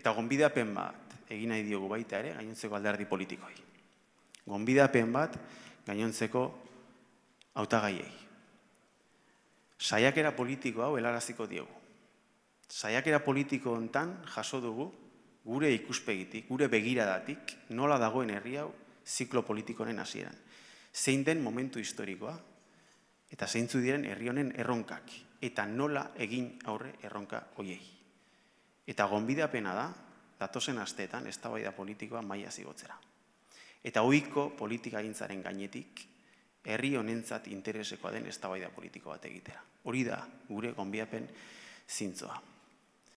Eta gonbidapen bat egin nahi diogu baita ere gainontzeko alderdi politikoi. Gonbidapen bat gainontzeko hautagaiei. Saiakera politiko hau helaraziko diogu. Saiakera politiko hontan jaso dugu gure ikuspegitik, gure begiradatik, nola dagoen herri hau ziklo politikoren hasieran. Zein den momentu historikoa, eta zeintzu diren herri honen erronkak, eta nola egin aurre erronka hoiei. Eta gonbidapena da, datozen asteetan eztabaida politikoa maila igotzera. Eta ohiko politikagintzaren gainetik, herri honentzat interesekoa den eztabaida politiko bat egitera. Hori da gure gonbidapen zintzoa.